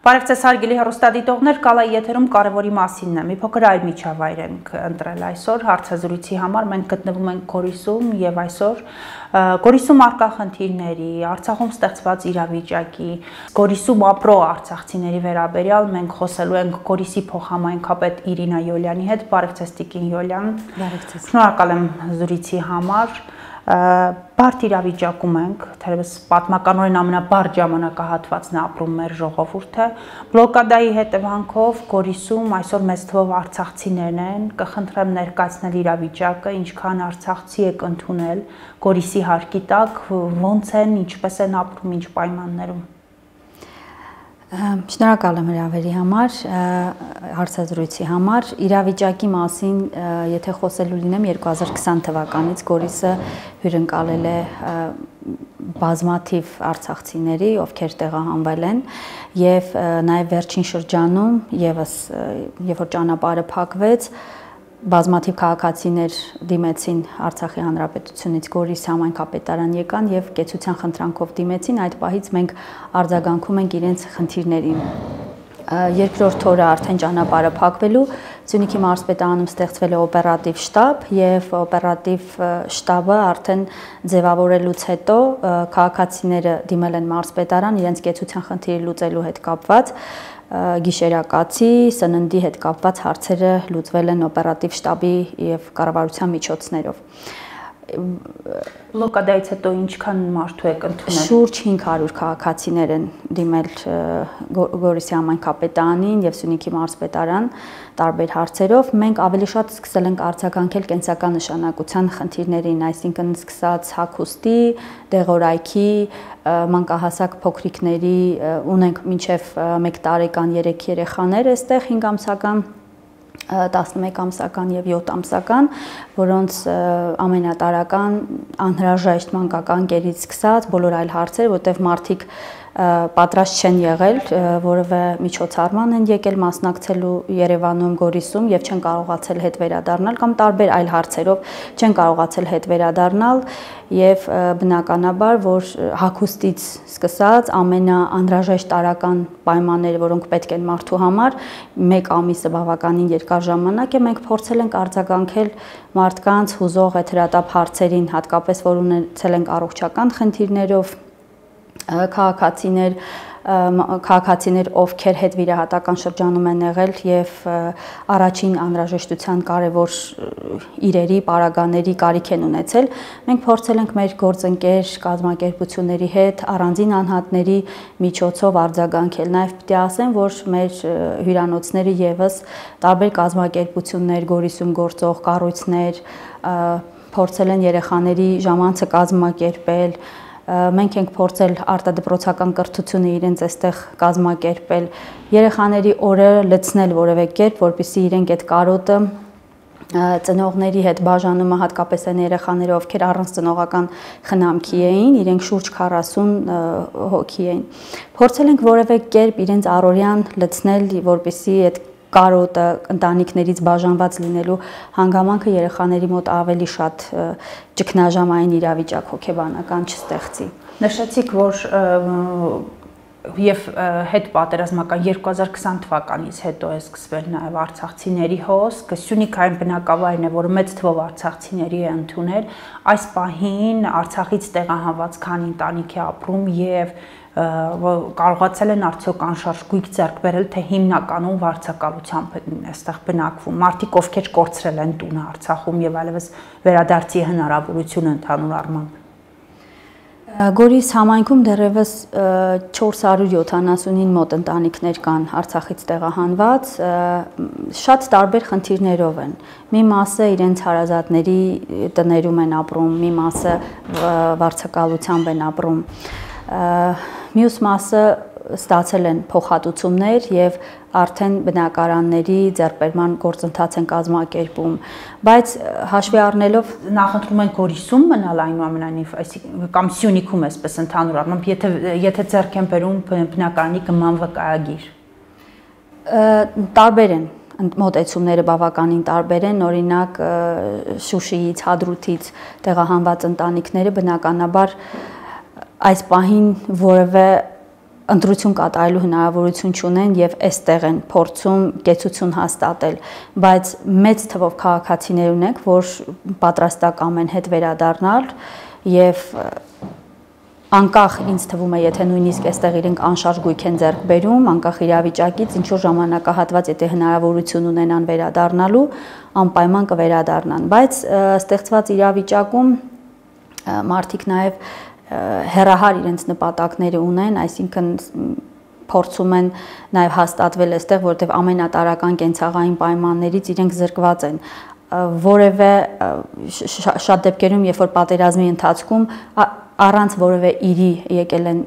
Բարև ձեզ հարգելի հեռուստադիտողներ, Կալայի եթերում կարևորի մասինն է։ Մի փոքր այլ միջավայր ենք ընտրել այսօր հարցազրույցի համար։ Մենք գտնվում ենք Գորիսում եւ այսօր Գորիսում առկա խնդիրների, Արցախում ստեղծված իրավիճակի, Գորիսում ապրող արցախցիների վերաբերյալ մենք խոսելու ենք Գորիսի փոխհամայնքապետ Իրինա Յոլյանի հետ։ Բարև ձեզ Տիկին Յոլյան։ Բարև ձեզ։ Շնորհակալ եմ զրույցի համար։ Բարդ իրավիճակում ենք, թերևս պատմականորեն ամենաբարդ ժամանակահատվածն է ապրում մեր ժողովուրդը։ Բլոկադայի հետևանքով Գորիսում այսօր մեծ թվով արցախցիներն են, կխնդրեմ ներկայացնել իրավիճակը, ինչքան արցախցի եք ընդունել Գորիսի հարկի տակ, ոնց են, ինչպես են ապրում, ինչ պայմաններում։ Շնորհակալ եմ հրավերի համար, հարցազրույցի համար։ Իրավիճակի մասին, եթե խոսելու լինեմ, 2020 թվականից Գորիսը հյուրընկալել է բազմաթիվ արցախցիների, ովքեր տեղահանվել են, եւ նաեւ վերջին շրջանում եւս երբ որ ճանապարհը փակվեց, բազմաթիվ քաղաքացիներ դիմեցին Արցախի Հանրապետությունից Գորիս համայնքապետարան եկան եւ կեցության խնդրանքով դիմեցին, այդ պահից մենք արձագանքում ենք իրենց խնդիրներին։ Երկրորդ օրը արդեն ճանապարհը փակվելու Սյունիքի մարզպետարանում ստեղծվել է օպերատիվ շտաբ եւ օպերատիվ շտաբը արդեն ձևավորելուց հետո քաղաքացիները դիմել են մարզպետարան իրենց կեցության խնդիրը լուծելու հետ կապված գիշերակացի, սննդի հետ կապված հարցերը լուծվել են օպերատիվ շտաբի եւ կառավարության միջոցներով։ Բլոկադայից հետո ինչքան մարդու եք ընդունել։ Շուրջ 500 քաղաքացիներ են դիմել Գորիսի համայնքապետարանին եւ Սյունիքի մարզպետարան տարբեր հարցերով։ Մենք ավելի շատ սկսել ենք արձագանքել կենսական նշանակության խնդիրներին, այսինքն սկսած հագուստի, դեղորայքի, մանկահասակ փոքրիկների, ունենք մինչև 1 տարեկան 3 երեխաներ այստեղ 5 ամսական 11 ամսական եւ 7 ամսական, որոնց ամենատարական անհրաժեշտ մանկական կերից սկսած բոլոր այլ հարցեր, որտեղ մարդիկ պատրաստ չեն եղել, որևէ միջոցառման են եկել մասնակցելու Երևանում, Գորիսում եւ չեն կարողացել հետ վերադառնալ կամ տարբեր այլ հարցերով չեն կարողացել հետ վերադառնալ եւ բնականաբար, որ հագուստից սկսած ամենաանհրաժեշտ տարական պայմանները, որոնք պետք են մարդու համար, 1 ամիսը բավականին երկար ժամանակ է, մենք փորձել ենք արձագանքել մարդկանց հուզող հետրատապ հարցերին, հատկապես որ ունեցել ենք առողջական խնդիրներով քաղաքացիներ, ովքեր հետ վիրահատական շրջանում են եղել եւ առաջին անհրաժեշտության կարևոր իրերի, պարագաների կարիք են ունեցել, մենք փորձել ենք մեր գործընկեր կազմակերպությունների հետ առանձին անհատների միջոցով արձագանքել։ Նաեւ պետք է ասեմ, որ մեր հյուրանոցները եւս տարբեր կազմակերպություններ, Գորիսում գործող կառույցներ փորձել են երեխաների ժամանցը կազմակերպել։ Մենք ենք փորձել արտադպրոցական կրթությունը իրենց այստեղ կազմակերպել, երեխաների օրը լցնել որևէ կերպ, որպեսզի իրենք այդ կարոտը ծնողների հետ բաժանումը հատկապես այն երեխաները, ովքեր առանց ծնողական խնամքի էին, իրենք շուրջ 40 հոգի էին։ Փորձել ենք որևէ կերպ իրենց առօրյան լցնել, որպեսզի այդ կարոտը ընտանիքներից բաժանված լինելու հանգամանքը երեխաների մոտ ավելի շատ ճգնաժամային իրավիճակ հոգեբանական չստեղծի։ Նշեցիք, որ եւ հետ պատերազմական 2020 թվականից հետո է սկսվել նաեւ արցախցիների հոսք, Սյունիքային բնակավայրն է, որը մեծ թվով արցախցիների է ընդունել, այս պահին Արցախից տեղահանված քանի ընտանիք է ապրում եւ կարողացել են արդյոք անշարժ գույք ձեռք բերել, թե հիմնականում վարձակալությամբ են այստեղ բնակվում։ Մարդիկ, ովքեր կորցրել են տունը Արցախում եւ այլևս վերադարձի հնարավորություն ընդհանուր առմամբ։ Գորիս համայնքում դեռևս 479 մոտ ընտանիքներ կան Արցախից տեղահանված, շատ տարբեր խնդիրներով են։ Մի մասը իրենց հարազատների տներում են ապրում, մի մասը վարձակալությամբ են ապրում։ Մյուս մասը ստացել են փոխհատուցումներ եւ արդեն բնակարանների ձեռբերման գործընթաց են կազմակերպում, բայց հաշվի առնելով նախընտրում են Գորիսում մնալ այնուամենայնիվ, այսինքն կամ Սյունիքում էսպես ընդհանուր առմամբ, եթե ձեռք են բերում բնակարանի գման վկայագիր։ Տարբեր են մոտեցումները բավականին տարբեր են, օրինակ Շուշիից, Հադրութից տեղահանված ընտանիքները բնականաբար այս պահին որևէ ընտրություն կատարելու հնարավորություն չունեն եւ այստեղ են փորձում կեցություն հաստատել, բայց մեծ թվով քաղաքացիներ ունենք, որ պատրաստական են հետ վերադառնալ եւ անկախ ինձ թվում է, եթե նույնիսկ այստեղ իրենք անշարժ գույք են ձեռք բերում, անկախ իրավիճակից, ինչ որ ժամանակահատված, եթե հնարավորություն ունենան վերադառնալու, անպայման կվերադառնան, բայց ստեղծված իրավիճակում մարդիկ նաեւ հեռահար իրենց նպատակները ունեն, այսինքն փորձում են նաև հաստատվել այստեղ, որտեղ ամենատարրական կենցաղային պայմաններից իրենք զրկված են։ Որևէ շատ դեպքերում, երբ որ պատերազմի ընթացքում առանց որևէ իրի եկել են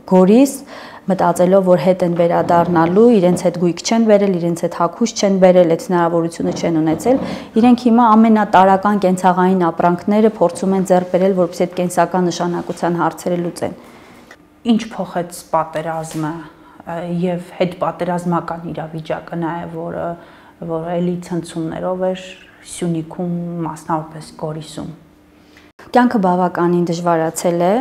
Գորիս, մտածելով, որ հետ են վերադառնալու, իրենց հետ գույք չեն բերել, իրենց հետ հագուշ չեն բերել, այդ հնարավորությունը չեն ունեցել, իրենք հիմա ամենատարրական կենցաղային ապրանքները փորձում են ձեռք բերել, որպեսզի այդ կենսական նշանակության հարցերը լուծեն։ Ինչ փոխեց պատերազմը եւ հետպատերազմական իրավիճակը նաեւ, որը էլի ցնցումներով էր Սյունիքում, մասնավորապես Գորիսում։ Կյանքը բավականին դժվարացել է,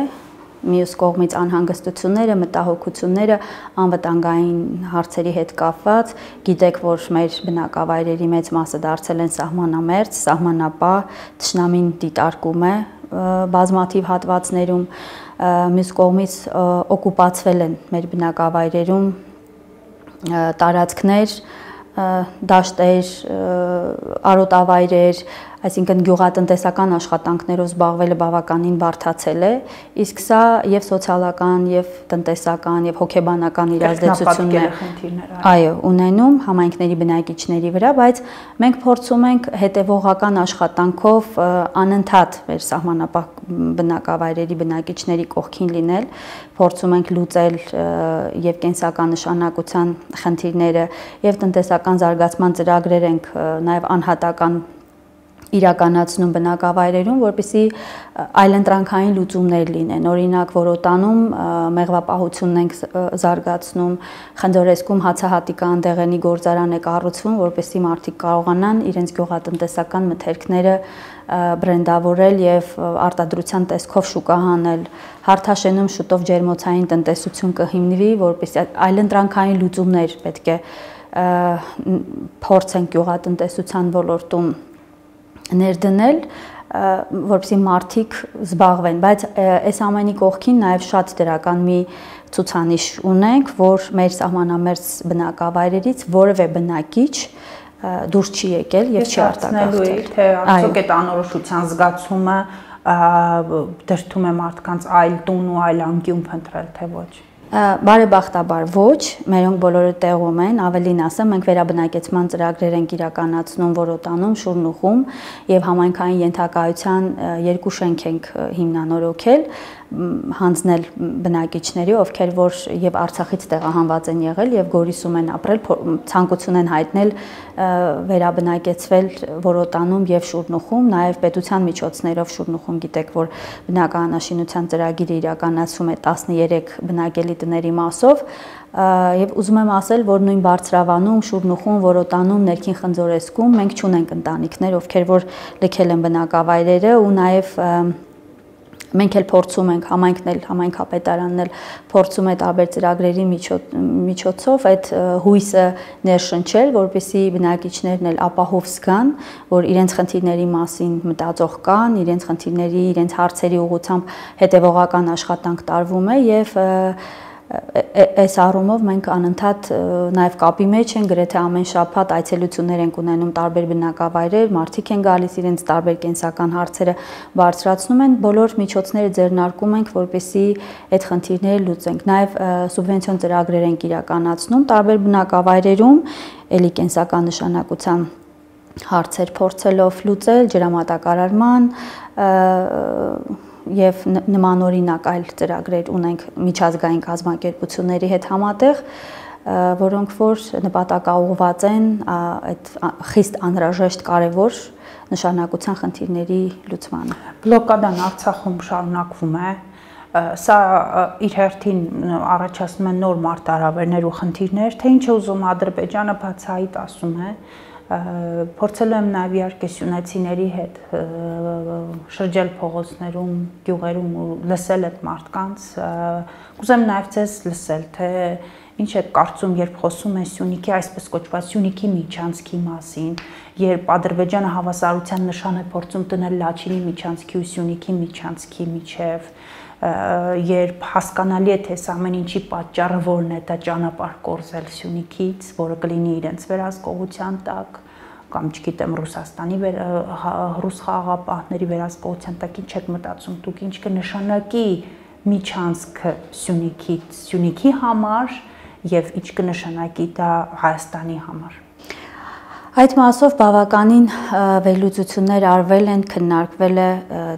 մյուս կողմից անհանգստությունները, մտահոգությունները անվտանգային հարցերի հետ կապված, գիտեք, որ մեր բնակավայրերի մեծ մասը դարձել են սահմանամերձ, սահմանապահ, թշնամին դիտարկում է բազմաթիվ հատվածներում, մյուս կողմից օկուպացվել են մեր բնակավայրերում տարածքներ, դաշտեր, արոտավայրեր, այսինքն գյուղատնտեսական աշխատանքներով զբաղվելը բավականին բարդացել է, իսկ սա եւ սոցիալական, եւ տնտեսական, եւ հոգեբանական իր ազդեցություններ այո, ունենում համայնքների բնակիչների վրա, բայց մենք փորձում ենք հետեւողական աշխատանքով անընդհատ մեր սահմանապահ բնակավայրերի բնակիչների կողքին լինել, փորձում ենք լուծել եւ կենսական նշանակության խնդիրները եւ տնտեսական զարգացման ծրագրեր ենք նաեւ անհատական իրականացնում բնակավայրերում, որպեսզի այլընտրանքային լուծումներ լինեն։ Օրինակ, Որոտանում մեղվապահությունն ենք զարգացնում, Խնձորեսկում հացահատիկան դեղենի գործարան է կառուցվում, որպեսզի մարդիկ կարողանան իրենց գյուղատնտեսական մթերքները բրենդավորել եւ արտադրության տեսքով շուկա հանել։ Հարթաշենում շուտով ջերմոցային տնտեսություն կհիմնվի, որպեսզի այլընտրանքային լուծումներ պետք է փորձեն գյուղատնտեսության ոլորտում ներդնել, որպեսզի մարդիկ զբաղվեն, բայց այս ամենի կողքին նաև շատ դրական մի ցուցանիշ ունենք, որ մեր սահմանամերձ բնակավայրերից որևէ բնակիչ դուրս չի եկել եւ չի արտագաղթել, թե արդյոք այդ անորոշության զգացումը դրդում է մարդկանց այլ տուն ու այլ անկյուն փնտրել, թե ոչ։ Բարեբախտաբար ոչ, մերոնք բոլորը տեղում են, ավելին ասեմ, մենք վերաբնակեցման ծրագրեր ենք իրականացնում Որոտանում, Շուրնուխում եւ համայնքային ենթակայության 2 շենք ենք հիմնանորոգել, հանձնել բնակիչների, ովքեր որ եւ Արցախից տեղահանված են եղել եւ Գորիսում են ապրել, ցանկություն են հայտնել վերաբնակեցվել Որոտանում եւ Շուրնուխում, նաեւ պետության միջոցներով Շուրնուխում գիտեք, որ բնակարանաշինության ծրագիրը իրականացում է 13 բնակելի տների մասով եւ ուզում եմ ասել, որ նույն Բարձրավանում, Շուրնուխում, Որոտանում, Ներքին Խնձորեսկում մենք չունենք ընտանիքներ, ովքեր որ լքել են բնակավայրերը ու նաեւ մենք էլ փորձում ենք համայնքն էլ համայնքապետարանն էլ փորձում է տարբեր ծրագրերի միջոցով այդ հույսը ներշնչել, որպեսզի բնակիչներն էլ ապահով զգան, որ իրենց խնդիրների մասին մտածող կան, իրենց խնդիրների, իրենց հարցերի ուղղությամբ հետևողական աշխատանք տարվում է եւ այս առումով մենք անընդհատ նաև կապի մեջ ենք, գրեթե ամեն շաբաթ այցելություններ ենք ունենում տարբեր բնակավայրեր, մարդիկ են գալիս իրենց տարբեր կենսական հարցերը բարձրացնում են, բոլոր միջոցները ձեռնարկում ենք, որպեսզի այդ խնդիրները լուծենք։ Նաև սուբվենցիոն ծրագրեր ենք իրականացնում տարբեր բնակավայրերում, ելի կենսական նշանակության հարցեր փորձելով լուծել, ջրամատակարարման եւ նմանօրինակ այլ ծրագրեր ունենք միջազգային կազմակերպությունների հետ համատեղ, որոնք որ նպատակաուղղված են այդ խիստ անհրաժեշտ կարևոր նշանակության խնդիրների լուծմանը։ Բլոկադան Արցախում շարունակվում է, սա իր հերթին առաջացնում է նոր մարտահրավերներ ու խնդիրներ, թե ինչ է ուզում Ադրբեջանը բացահայտ ասում է, Փորձել եմ նաև իհարկե սյունեցիների հետ շրջել փողոցներում, գյուղերում ու լսել այդ մարդկանց, կուզեմ նաև ձեզ լսել, թե ինչ եք կարծում, երբ խոսում են Սյունիքի այսպես կոչված Սյունիքի միջանցքի մասին, երբ Ադրբեջանը հավասարության նշան է փորձում դնել Լաչինի միջանցքի ու Սյունիքի միջանցքի միջև, երբ հասկանալի է, թե այս ամեն ինչի պատճառը որն է, դա ճանապարհ կորզել Սյունիքից, որը կլինի իրենց վերահսկողության տակ, կամ չգիտեմ Ռուսաստանի ռուս խաղաղապահների վերահսկողության տակ, ինչ եք մտածում դուք, ինչ կնշանակի միջանցքը Սյունիքից, Սյունիքի համար եւ ինչ կնշանակի դա Հայաստանի համար։ Այդ մասով բավականին վերլուծություններ արվել են, քննարկվել է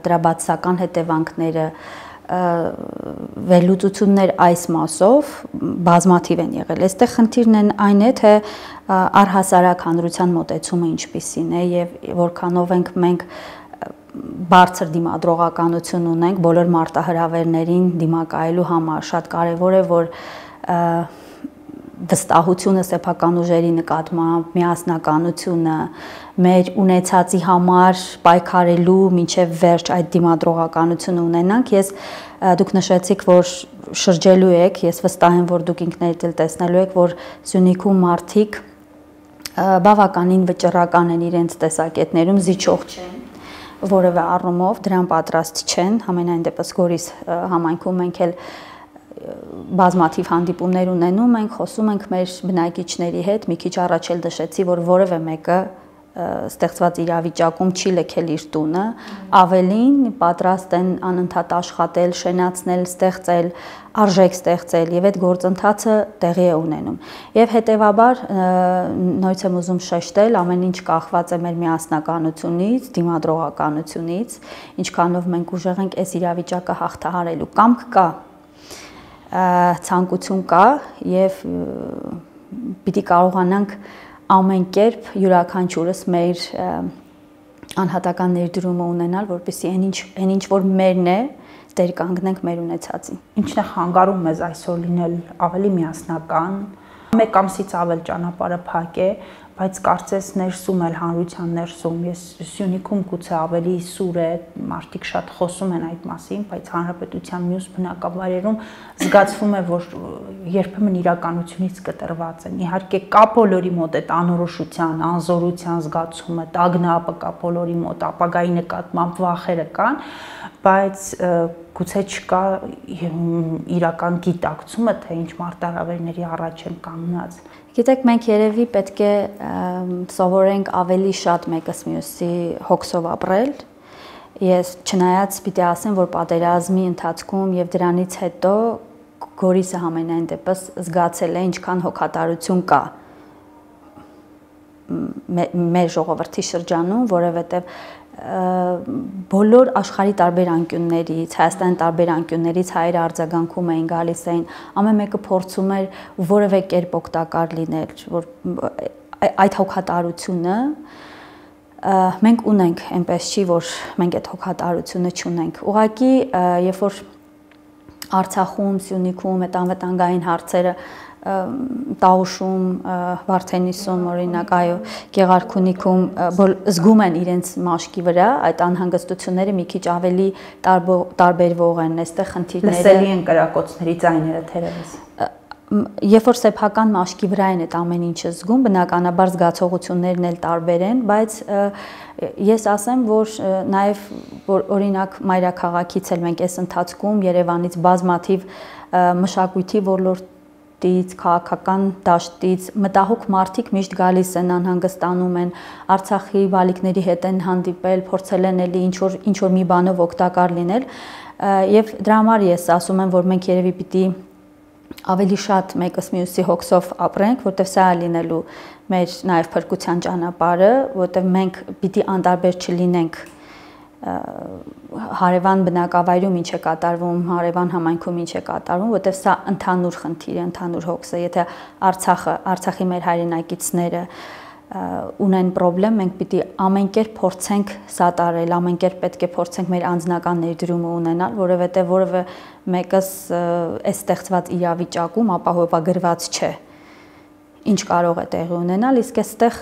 դրա բացասական հետևանքները, վերլուծություններ այս մասով բազմաթիվ են եղել։ Այստեղ խնդիրն այն է, թե առհասարակ հանրության մոտեցումը ինչպիսին է եւ որքանով ենք մենք բարձր դիմադրողականություն ունենք բոլոր մարտահրավերներին դիմակայելու համար։ Շատ կարեւոր է, որ վստահությունը սեփական ուժերի նկատմամբ, միասնականությունը, մեր ունեցածի համար պայքարելու մինչև վերջ այդ դիմադրողականությունը ունենանք։ Դուք նշեցիք, որ շրջելու եք, ես վստահ եմ, որ դուք ինքներդ էլ տեսնելու եք, որ Սյունիքում մարդիկ բավականին վճռական են իրենց տեսակետներում, զիջող չեն որևէ առումով, դրան պատրաստ չեն, համենայն դեպս Գորիս համայնքում մենք էլ բազմաթիվ հանդիպումներ ունենում ենք, խոսում ենք մեր բնակիչների հետ, մի քիչ առաջ էլ նշեցի, որ որևէ մեկը ստեղծված իրավիճակում չի լքել իր տունը, ավելին պատրաստ են անընդհատ աշխատել, շենացնել, ստեղծել, արժեք ստեղծել եւ այդ գործընթացը տեղի է ունենում։ Եվ հետեւաբար նույնիսկ եմ ուզում շեշտել, ամեն ինչ կախված է մեր միասնականությունից, դիմադրողականությունից, ինչքանով մենք ուժեղ ենք այս իրավիճակը հաղթահարելու։ Կամք կա, ցանկություն կա եւ պիտի կարողանանք ամեն կերպ յուրաքանչյուրս մեր անհատական ներդրումը ունենալ, որպեսզի այն ինչ որ մերն է, դեր կանգնենք մեր ունեցածին։ Ինչն է խանգարում մեզ այսօր լինել ավելի միասնական, մեկ ամսից ավել ճանապարհը փակ է, բայց կարծես ներսում էլ հանրության ներսում, ես Սյունիքում գուցե ավելի սուր է, մարդիկ շատ խոսում են այդ մասին, բայց հանրապետության մյուս բնակավայրերում զգացվում է, որ երբեմն իրականությունից կտրված են։ Իհարկե կա բոլորի մոտ այդ անորոշության, անզորության զգացումը, տագնապը կա բոլորի մոտ, ապագայի նկատմամբ վախերը կան, բայց գուցե չկա իրական գիտակցումը, թե ինչ մարտահրավերների առաջ են կանգնած։ Գիտեք, մենք երևի պետք է սովորենք ավելի շատ մեկս մյուսի հոգսով ապրել։ Ես չնայած պիտի ասեմ, որ պատերազմի ընթացքում եւ դրանից հետո Գորիսը համենայն դեպս զգացել է ինչքան հոգատարություն կա մեր ժողովրդի շրջանում, որովհետեւ բոլոր աշխարհի տարբեր անկյուններից, Հայաստանի տարբեր անկյուններից հայերը արձագանքում էին, գալիս էին, ամեն մեկը փորձում էր որևէ կերպ օգտակար լինել, որ այդ հոգատարությունը մենք ունենք, այնպես չի, որ մենք այդ հոգատարությունը չունենք։ Ուղղակի, երբ որ Արցախում, Սյունիքում այդ անվտանգային հարցերը Տաուշում, Վարդենիսում, օրինակ, այո, Գեղարքունիքում զգում են իրենց մաշկի վրա, այդ անհանգստությունները մի քիչ ավելի տարբերվող են, այստեղ խնդիրները լսելի են կրակոցների ձայները թերևս։ Երբ որ սեփական մաշկի վրա են այդ ամեն ինչը զգում, բնականաբար զգացողություններն էլ տարբեր են, բայց ես ասեմ, որ նաև որ օրինակ մայրաքաղաքից էլ մենք այս ընթացքում Երևանից բազմաթիվ մշակույթի ոլորտից, քաղաքական դաշտից մտահոգ մարդիկ միշտ գալիս են, անհանգստանում են, Արցախի բալիկների հետ են հանդիպել, փորձել են էլի ինչ որ մի բանով օգտակար լինել, եւ դրա համար ես ասում եմ, որ մենք երևի պիտի ավելի շատ մեկս մյուսի հոգսով ապրենք, որտեղ սա է լինելու մեր նաև փրկության ճանապարհը, որտեղ մենք պիտի անտարբեր չլինենք հարևան բնակավայրում ինչ է կատարվում, հարևան համայնքում ինչ է կատարվում, որտեղ սա ընդհանուր խնդիր է, ընդհանուր հոգս է, եթե Արցախի մեր հայրենակիցները ունեն պրոբլեմ, մենք պիտի ամեն կերպ փորձենք սատարել, ամեն կերպ պետք է փորձենք մեր անձնական ներդրումը ունենալ, որովհետև որևէ մեկս այս ստեղծված իրավիճակում ապահովագրված չէ։ ինչ կարող է տեղի ունենալ, իսկ այստեղ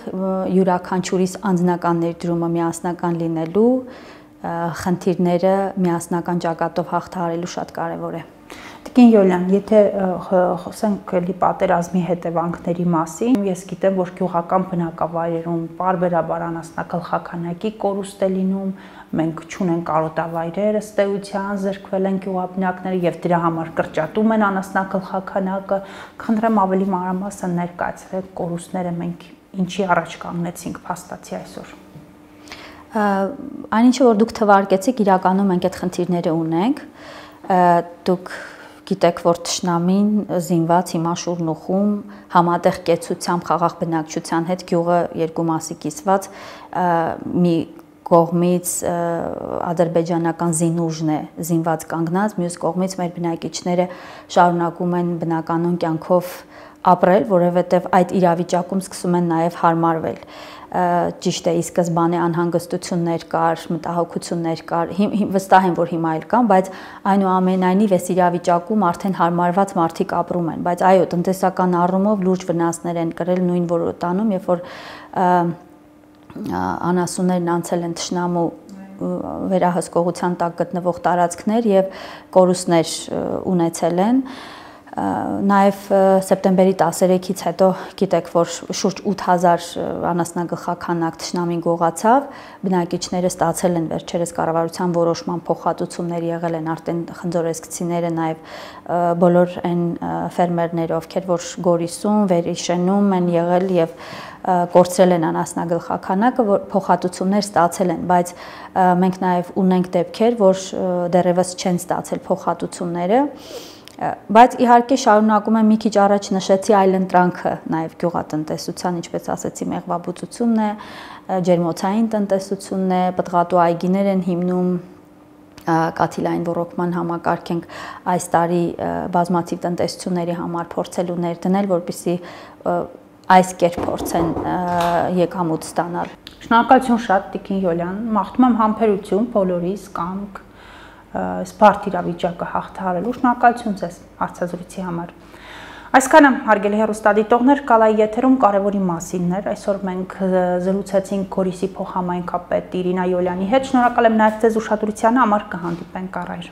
յուրաքանչյուրիս անձնական ներդրումը միասնական լինելու, խնդիրները միասնական ճակատով հաղթահարելու շատ կարևոր է։ Տիկին Յոլյան, եթե խոսենք էլի պատերազմի հետևանքների մասին, ես գիտեմ, որ գյուղական բնակավայրերում պարբերաբար անասնագլխաքանակի կորուստ է լինում, մենք չունենք կարոտավայրեր, ըստ էության զրկվել են գյուղաբնակները եւ դրա համար կրճատում են անասնագլխաքանակը։ Խնդրեմ ավելի մանրամասն ներկայացրեք կորուստները մենք ինչի առաջ կանգնեցինք փաստացի այսօր։ Այնինչը որ դուք թվարկեցիք, իրականում մենք այդ խնդիրները ունենք, դուք գիտեք, որ թշնամին զինված հիմա շուրն ու խում համատեղ կեցությամբ խաղաղ բնակչության հետ գյուղը երկու մասի կիսված մի կողմից ադրբեջանական զինուժն է զինված կանգնած, մյուս կողմից մեր բնակիչները շարունակում են բնականon կյանքով ապրել, որովհետև այդ իրավիճակում սկսում են նաև հարմարվել։ Ճիշտ է, ի սկզբանե անհանգստություններ կար, մտահոգություններ կար, վստահ եմ, որ հիմա էլ կան, բայց այնուամենայնիվ այս իրավիճակում արդեն հարմարված մարդիկ ապրում են, բայց այո, տնտեսական առումով լուրջ վնասներ են կրել նույն որոտանում, երբ որ անասուններն անցել են թշնամու վերահսկողության տակ գտնվող տարածքներ եւ կորուստներ ունեցել են։ Նաև սեպտեմբերի 13-ից հետո գիտեք, որ շուրջ 8000 անասնագլխաքանակ թշնամին գողացավ, բնակիչները ստացել են վերջերս կառավարության որոշման փոխհատուցումներ եղել են արդեն խնձորեսկցիները, նաև բոլոր այն ֆերմերները, ովքեր որ Գորիսում, Վերիշենում են եղել եւ կորցրել են անասնագլխաքանակը, որ փոխհատուցումներ ստացել են, բայց մենք նաև ունենք դեպքեր, որ դեռևս չեն ստացել փոխհատուցումները։ Բայց իհարկե շարունակում եմ մի քիչ առաջ նշեցի այլընտրանքը նաև գյուղատնտեսության, ինչպես ասեցի, մեղվաբուծությունն է, ջերմոցային տնտեսությունն է, պտղատու այգիներ են հիմնում, կաթիլային ոռոգման համակարգ ենք այս տարի բազմաթիվ տնտեսությունների համար փորձելու ներդնել, որպեսզի այս կերպ փորձեն եկամուտ ստանալ։ Շնորհակալություն շատ, Տիկին Յոլյան, մաղթում եմ համբերություն բոլորիս, կամք սպարտ իրավիճակը հաղթահարելու, շնորհակալություն ձեզ հարցազրույցի համար։ Այսքանը հարգելի հեռուստադիտողներ, Կալայի եթերում կարևորի մասիններ, այսօր մենք զրուցեցինք Գորիսի փոխհամայնքապետ Իրինա Յոլյանի հետ, շնորհակալ եմ նաև ձեզ ուշադրության համար, կհանդիպենք առայժմ։